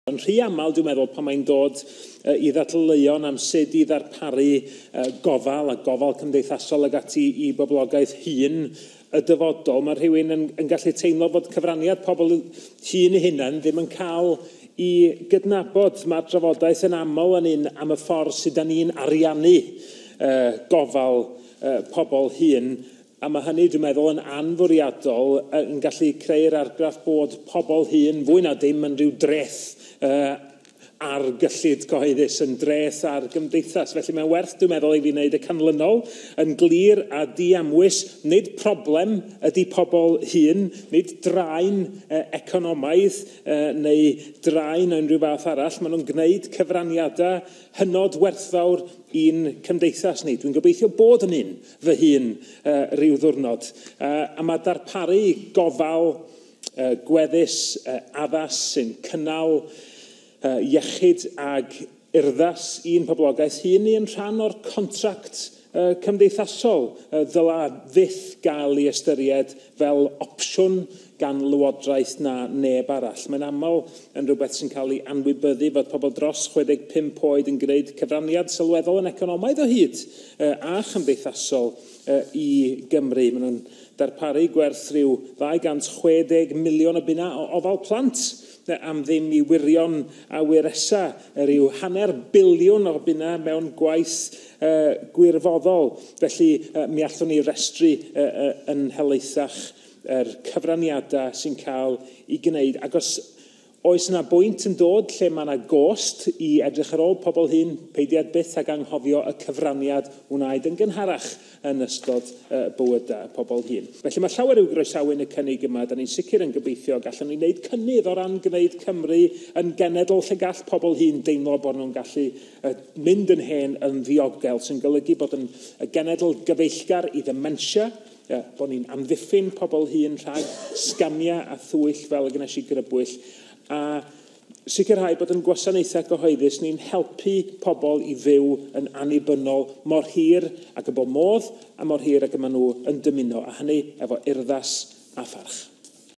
Yn rhy aml, dwi'n meddwl, pan mae'n dod i ddadleuon am sut i ddarparu gofal a gofal cymdeithasol ag ati i boblogaeth hŷn y dyfodol, mae rhywun yn gallu teimlo bod cyfraniad pobl hŷn eu hunain ddim yn cael i gydnabod. Mae'r drafodaeth yn aml yn un am y ffordd sydd da ni'n ariannu gofal pobl hŷn, a mae hynny, dwi'n meddwl, yn anfwriadol yn gallu creu'r argraff bod pobl hŷn fwy na dim yn rhyw dreth ar gyllid cyhoeddus, yn dreth ar gymdeithas. Felly mae'n werth, dwi'n meddwl, i fi wneud y canlynol yn glir a diamwys. Nid problem ydy pobl hŷn, nid draen economaidd neu draen o unrhyw fath arall. Maen nhw'n gwneud cyfraniadau hynod werthfawr i'n cymdeithas ni. Dwi'n gobeithio bod yn un fy hun rhyw ddiwrnod. A mae darparu gofal gweddus, addas sy'n cynnal iechyd ag urddas i'n poblogaeth hŷn ni yn rhan o'r contract cymdeithasol ddyla fyth gael ei ystyried fel opsiwn gan lywodraeth na neb arall. Mae'n aml yn rhywbeth sy'n cael ei anwybyddu fod pobl dros 65 oed yn gwneud cyfraniad sylweddol yn economaidd o hyd a chymdeithasol i Gymru. Maen nhw'n darparu gwerth rhyw 260 miliwn o bunnau o ofal plant am ddim i wirion a wiresa, rhyw 500 biliwn o bunnau mewn gwaith gwirfoddol. Felly mi allwn ni restru yn helaethach yr cyfraniadau sy'n cael ei gwneud. Ac os oes yna bwynt yn dod lle mae yna gost i edrych ar ôl pobl hŷn, peidiad byth ag anghofio y cyfraniad wnaed yn gynharach yn ystod bywydau pobl hŷn. Felly mae llawer i'w groesawu yn y cynnig yma. Da ni'n sicr yn gobeithio gallwn ni wneud cynnydd o ran gwneud Cymru yn genedl lle gall pobl hŷn deimlo bod nhw'n gallu mynd yn hen yn ddiogel, sy'n golygu bod yn genedl gyfeillgar i ddementia, bod ni'n amddiffyn pobl hŷn rhag sgamiau a thwyll fel y gwnes i grybwyll, a sicrhau bod yn gwasanaethau cyhoeddus ni'n helpu pobl i fyw yn annibynnol mor hir ac y bo modd a mor hir ac y maen nhw yn dymuno, a hynny efo urddas a pharch.